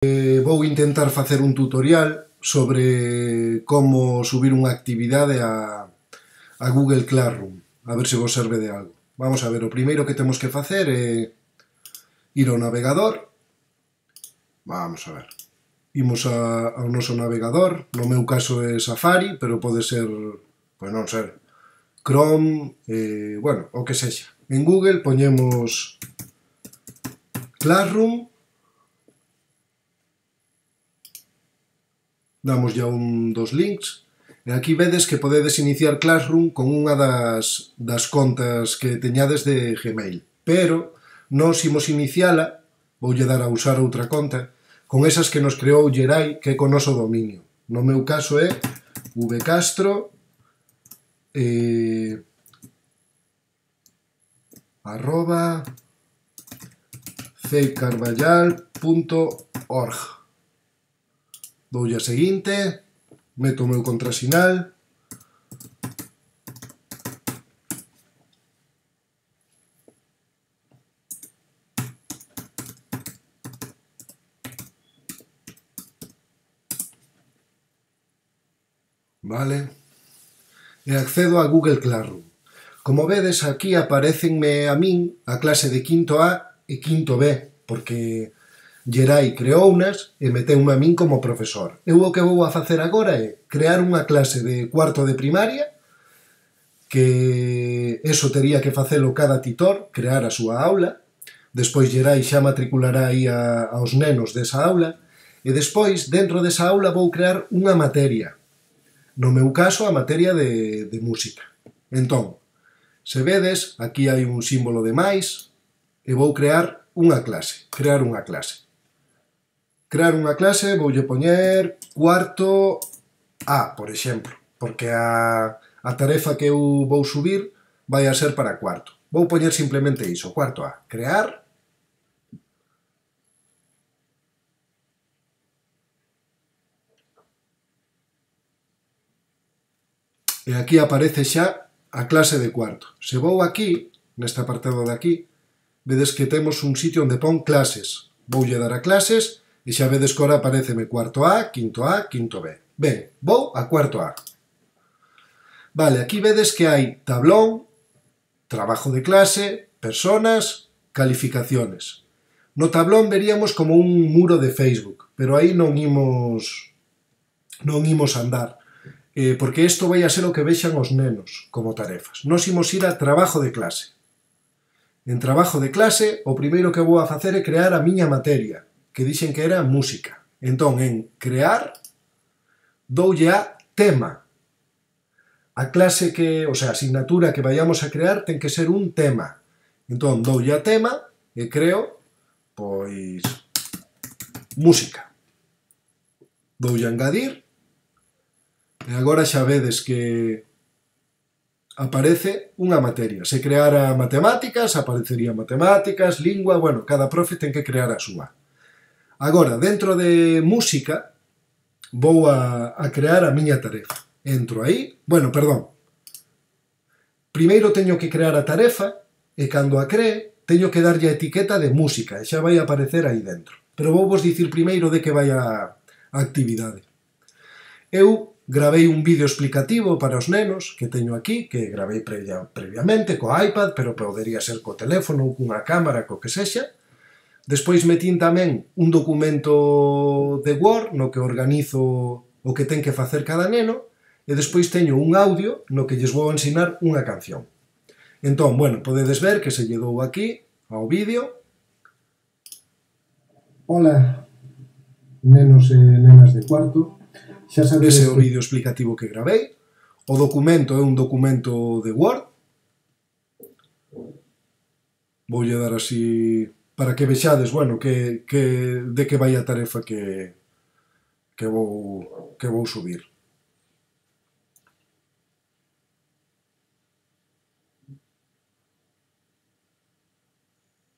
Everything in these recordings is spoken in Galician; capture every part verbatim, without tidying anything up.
Eh, vou intentar facer un tutorial sobre como subir unha actividade a, a Google Classroom, a ver se vos serve de algo. Vamos a ver, o primeiro que temos que facer é ir ao navegador. Vamos a ver. Imos a, ao noso navegador, no meu caso é Safari, pero pode ser, pois non ser, Chrome, eh, bueno, o que sexa. En Google poñemos Classroom, damos ya un dos links, e aquí vedes que podedes iniciar Classroom con unha das, das contas que teñades de Gmail, pero nos imos iniciala, voulle dar a usar outra conta, con esas que nos creou Gerai, que é con noso dominio. No meu caso é vcastro eh, arroba ceicarballal punto org. Doulle a seguinte, meto o meu contrasinal, vale, e accedo a Google Classroom. Como vedes, aquí aparecenme a min a clase de quinto A e quinto B, porque Gerai creounas e meteume a min como profesor. Eu o que vou a facer agora é crear unha clase de cuarto de primaria, que eso tería que facelo cada titor, crear a súa aula, despois Gerai xa matriculará aí a, aos nenos desa aula, e despois, dentro desa aula, vou crear unha materia. No meu caso, a materia de, de música. Entón, se vedes, aquí hai un símbolo de máis, e vou crear unha clase, crear unha clase. Crear unha clase, voulle poñer cuarto A, por exemplo, porque a, a tarefa que eu vou subir vai a ser para cuarto. Vou poñer simplemente iso, cuarto A. Crear. E aquí aparece xa a clase de cuarto. Se vou aquí, neste apartado de aquí, vedes que temos un sitio onde pon clases. Voulle dar a clases e xa vedes que ora apareceme cuarto A, quinto A, quinto B. Ben, vou a cuarto A. Vale, aquí vedes que hai tablón, trabajo de clase, personas, calificaciones. No tablón veríamos como un muro de Facebook, pero aí non imos non imos andar, eh, porque isto vai a ser o que vexan os nenos como tarefas. Nos imos ir a trabajo de clase. En trabajo de clase, o primeiro que vou a facer é crear a miña materia, que dixen que era música. Entón, en crear, doulle a tema. A clase que, o sea, a asignatura que vayamos a crear ten que ser un tema. Entón, doulle a tema e creo, pois, música. Doulle a engadir e agora xa vedes que aparece unha materia. Se creara matemáticas, aparecería matemáticas, lingua, bueno, cada profe ten que crear a súa. Agora, dentro de música, vou a, a crear a miña tarefa. Entro aí, bueno, perdón. Primeiro teño que crear a tarefa e cando a cree, teño que darlle a etiqueta de música e xa vai aparecer aí dentro. Pero vou vos dicir primeiro de que vai a, a actividade. Eu gravei un vídeo explicativo para os nenos que teño aquí, que gravei previa, previamente co iPad, pero podería ser co teléfono ou cunha cámara, co que sexa. Despois metín tamén un documento de Word no que organizo o que ten que facer cada neno e despois teño un audio no que lles vou ensinar unha canción. Entón, bueno, podedes ver que se lle dou aquí ao vídeo. Ola, nenos e nenas de cuarto. Xa sabedes ese é o vídeo explicativo que gravei. O documento é un documento de Word. Voulle dar así para que vexades, bueno, que, que, de que vai a tarefa que, que, vou, que vou subir.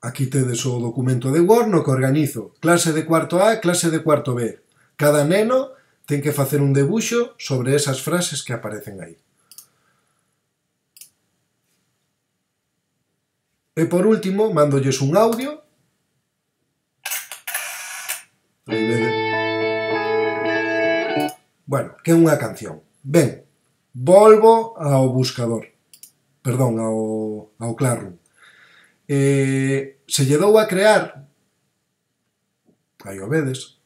Aquí tedes o documento de Word no que organizo clase de cuarto A e clase de cuarto B. Cada neno ten que facer un debuxo sobre esas frases que aparecen aí. E por último, mandolles un audio Aí vede. Bueno, que é unha canción. Ben, volvo ao buscador. Perdón, ao, ao Classroom. Eh, se lle dou a crear, aí o vedes.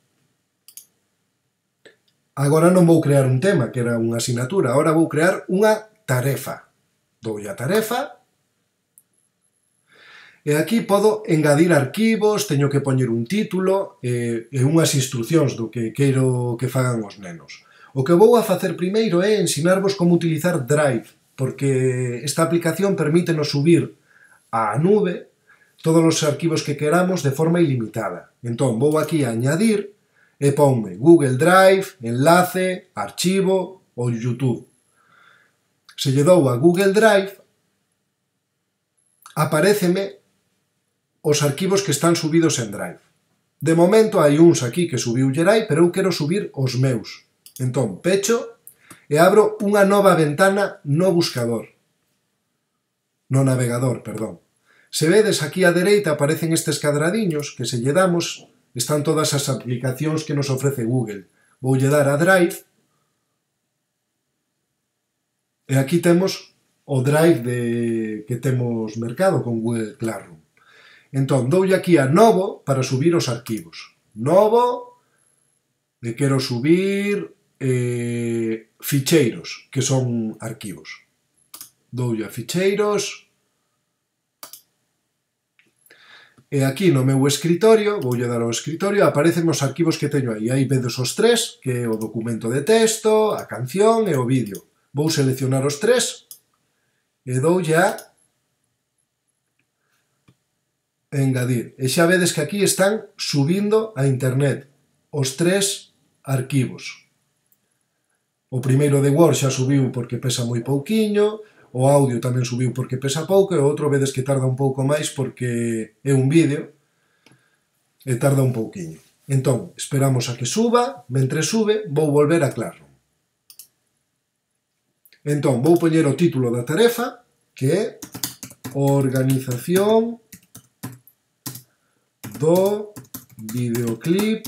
Agora non vou crear un tema, que era unha asignatura. Agora vou crear unha tarefa. Doulle a tarefa. E aquí podo engadir arquivos, teño que poñer un título e, e unhas instruccións do que quero que fagan os nenos. O que vou a facer primeiro é ensinarvos como utilizar Drive, porque esta aplicación permítenos subir á nube todos os arquivos que queramos de forma ilimitada. Entón, vou aquí a añadir e ponme Google Drive, enlace, archivo ou YouTube. Se lle dou a Google Drive, aparéceme os arquivos que están subidos en Drive. De momento hai uns aquí que subiu Gerai, pero eu quero subir os meus. Entón, pecho e abro unha nova ventana no buscador. No navegador, perdón. Se vedes aquí á dereita aparecen estes cadradiños que se lle damos, están todas as aplicacións que nos ofrece Google. Voulle dar a Drive e aquí temos o Drive de, que temos mercado con Google Classroom. Entón, doulle aquí a novo para subir os arquivos. Novo, e quero subir eh, ficheiros, que son arquivos. Doulle a ficheiros. E aquí no meu escritorio, voulle dar ao escritorio, aparecen os arquivos que teño aí. Aí vedes os tres, que é o documento de texto, a canción e o vídeo. Vou seleccionar os tres e doulle a engadir. E xa vedes que aquí están subindo a internet os tres arquivos. O primeiro de Word xa subiu porque pesa moi pouquiño, o audio tamén subiu porque pesa pouco, e o outro vedes que tarda un pouco máis porque é un vídeo e tarda un pouquiño. Entón, esperamos a que suba, mentre sube, vou volver a Classroom. Entón, vou poñer o título da tarefa, que é Organización do videoclip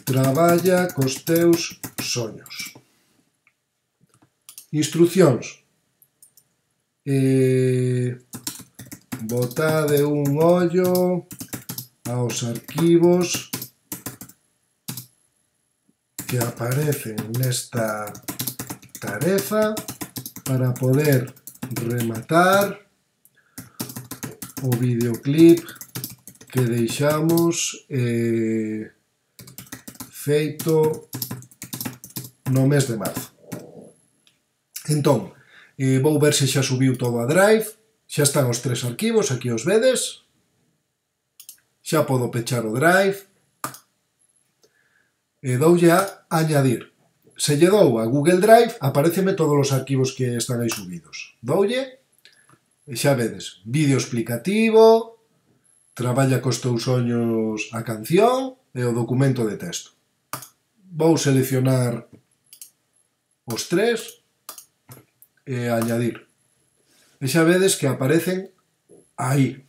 Traballa cos teus soños. Instruccións. Eh, botade un ollo aos arquivos que aparecen nesta tarefa para poder rematar o videoclip que deixamos eh, feito no mes de marzo. Entón, eh, vou ver se xa subiu todo a Drive, xa están os tres arquivos, aquí os vedes, xa podo pechar o Drive, e doulle a añadir. Se lle dou a Google Drive, apareceme todos os arquivos que están aí subidos. Doulle, e xa vedes, vídeo explicativo, Traballa cos teus soños a canción e o documento de texto. Vou seleccionar os tres e añadir. E xa vedes que aparecen aí.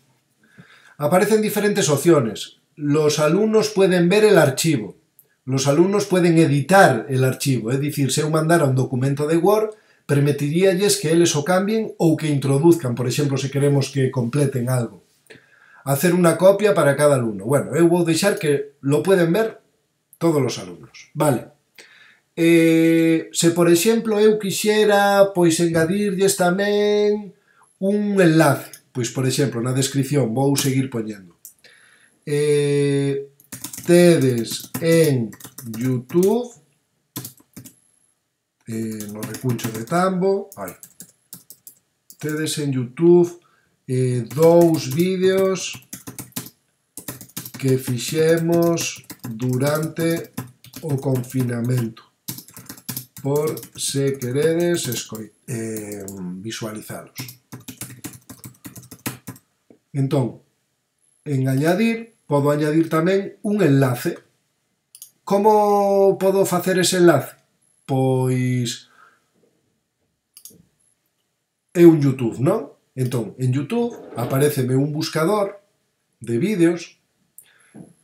Aparecen diferentes opciones. Los alumnos pueden ver el archivo. Los alumnos pueden editar el archivo. É dicir, se eu mandara un documento de Word, permitiríalles que eles o cambien ou que introduzcan, por exemplo, se queremos que completen algo. Hacer unha copia para cada alumno. Bueno, eu vou deixar que lo pueden ver todos os alumnos. Vale. Eh, se, por exemplo, eu quixera pois engadirlles tamén un enlace, pois, por exemplo, na descripción vou seguir poñendo. Eh, tedes en YouTube, eh, no recuncho de Tambo, ai, tedes en YouTube eh, dous vídeos que fixemos durante o confinamento, por se queredes eh, visualizalos. Entón, en añadir, podo añadir tamén un enlace. Como podo facer ese enlace? Pois é un YouTube, non? Entón, en YouTube apareceme un buscador de vídeos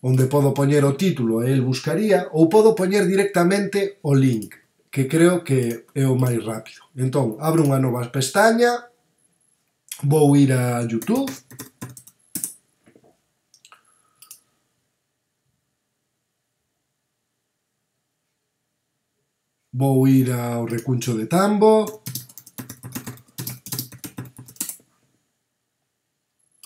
onde podo poñer o título e el buscaría, ou podo poñer directamente o link, que creo que é o máis rápido. Entón, abro unha nova pestaña, vou ir a YouTube, vou ir ao recuncho de Tambo,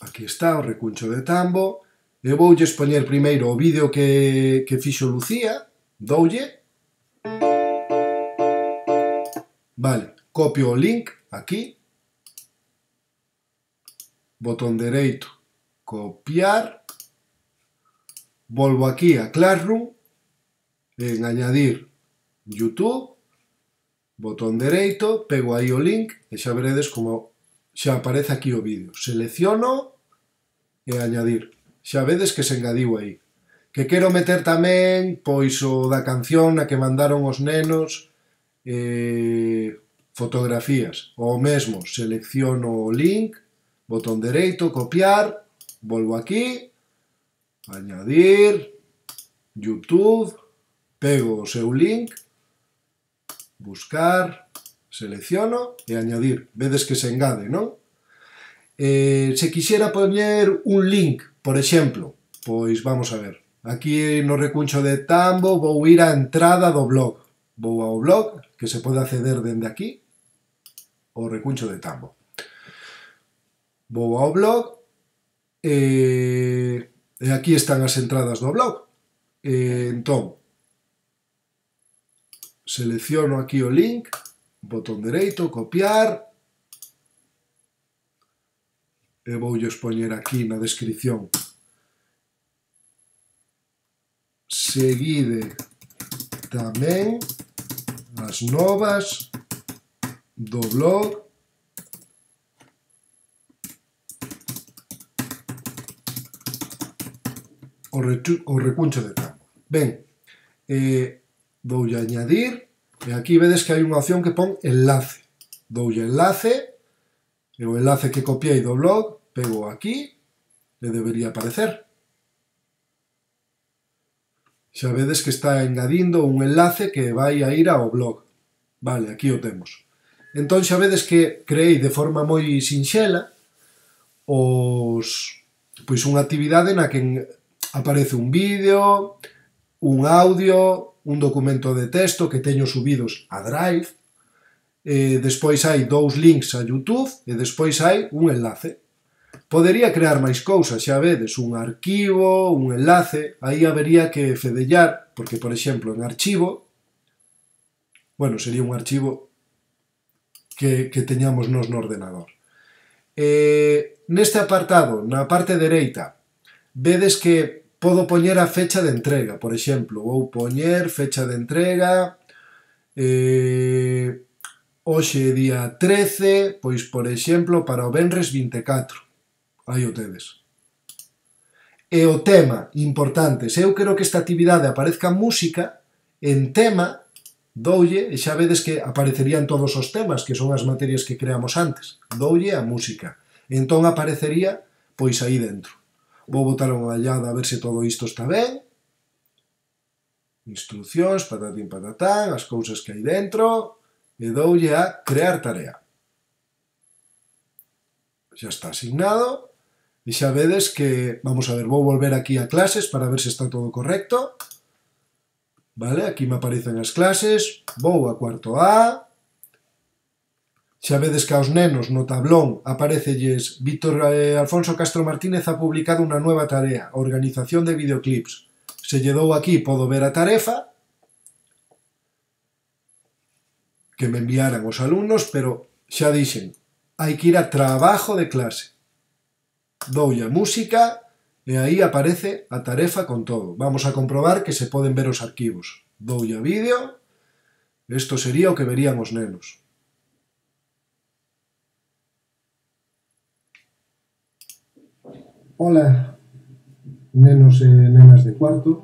aquí está o recuncho de Tambo, e voulle expoñer primeiro o vídeo que, que fixo Lucía, doulle, vale, copio o link aquí, botón dereito, copiar, volvo aquí a Classroom, en añadir YouTube, botón dereito, pego aí o link e xa veredes como xa aparece aquí o vídeo. Selecciono e añadir. Xa vedes que se engadiu aí. Que quero meter tamén, pois, o da canción na que mandaron os nenos eh, fotografías. O mesmo, selecciono o link, botón dereito, copiar, volvo aquí, añadir, YouTube, pego o seu link, buscar, selecciono e añadir. Vedes que se engade, non? Eh, se quixera poñer un link, por exemplo, pois vamos a ver. Aquí no recuncho de Tambo vou ir á entrada do blog. Vou ao blog, que se pode acceder dende aquí, o recuncho de Tambo. Vou ao blog e, e aquí están as entradas do blog. E, entón, selecciono aquí o link, botón dereito, copiar, e voulle expoñer aquí na descripción. Seguide tamén as novas do blog o, o recuncho de Tambo. Ben, eh, doulle añadir, e aquí vedes que hai unha opción que pon enlace. Doulle enlace, e o enlace que copiei do blog, pego aquí, e debería aparecer. Xa vedes que está engadindo un enlace que vai a ir ao blog. Vale, aquí o temos. Entón xa vedes que creei de forma moi sinxela os, pois unha actividade na que aparece un vídeo, un audio, un documento de texto que teño subidos a Drive, e despois hai dous links a YouTube e despois hai un enlace. Podería crear máis cousas, xa vedes, un arquivo, un enlace, aí habería que fedellar, porque, por exemplo, en archivo, bueno, sería un archivo que, que teñamos nos no ordenador. Eh, neste apartado, na parte dereita, vedes que podo poñer a fecha de entrega, por exemplo, vou poñer fecha de entrega, eh, hoxe día trece, pois, por exemplo, para o venres vinte e catro. Aí o tedes. E o tema, importante, se eu quero que esta actividade aparezca en música, en tema, doulle, e xa vedes que aparecerían todos os temas, que son as materias que creamos antes. Doulle a música. Entón aparecería, pois, aí dentro. Vou botar unha ollada a ver se todo isto está ben. Instruccións, patatín patatán, as cousas que hai dentro, e doulle a crear tarea. Xa está asignado. E xa vedes que, vamos a ver, vou volver aquí a clases para ver se está todo correcto. Vale, aquí me aparecen as clases, vou a cuarto A. Xa vedes que aos nenos no tablón aparecelles Víctor eh, Alfonso Castro Martínez ha publicado unha nueva tarea, organización de videoclips. Se lle dou aquí, podo ver a tarefa que me enviaran os alumnos, pero xa dixen, hai que ir a trabajo de clase. Doulle a música e aí aparece a tarefa con todo. Vamos a comprobar que se poden ver os arquivos. Doulle a vídeo. Isto sería o que verían os nenos. Ola, nenos e nenas de cuarto.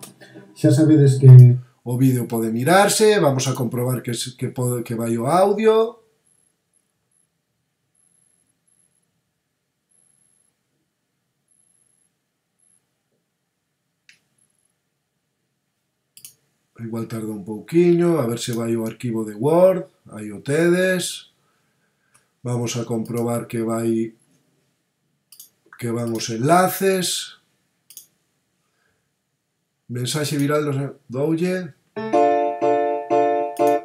Xa sabedes que o vídeo pode mirarse. Vamos a comprobar que, que, pode, que vai o audio. igual tarda un pouquiño, a ver se vai o arquivo de Word, aí o tedes. Vamos a comprobar que vai que van os enlaces. Mensaxe viral dos... doulle.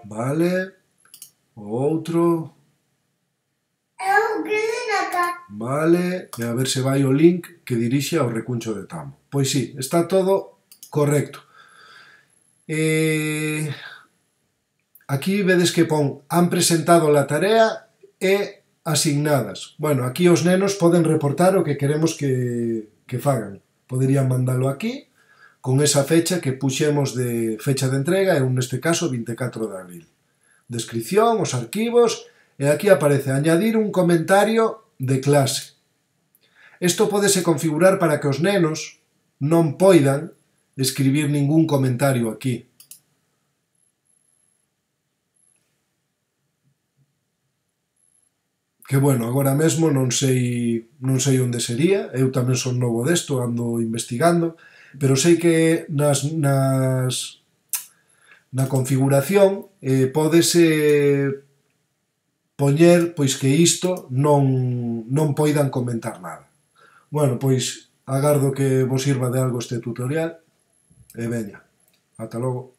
Vale. O outro. Vale. E a ver se vai o link que dirixe ao recuncho de Tamo. Pois sí, está todo correcto. Eh... Aquí vedes que pon han presentado la tarea e asignadas. Bueno, aquí os nenos poden reportar o que queremos que, que fagan. Poderían mandalo aquí, con esa fecha que puxemos de fecha de entrega, e neste caso vinte e catro de abril. Descripción, os arquivos, e aquí aparece añadir un comentario de clase. Isto pódese configurar para que os nenos non poidan escribir ningún comentario aquí. Que, bueno, agora mesmo non sei non sei onde sería, eu tamén son novo desto, ando investigando, pero sei que nas, nas na configuración eh, pódese poñer pois que isto non, non poidan comentar nada. Bueno, pois agardo que vos sirva de algo este tutorial e veña, ata logo.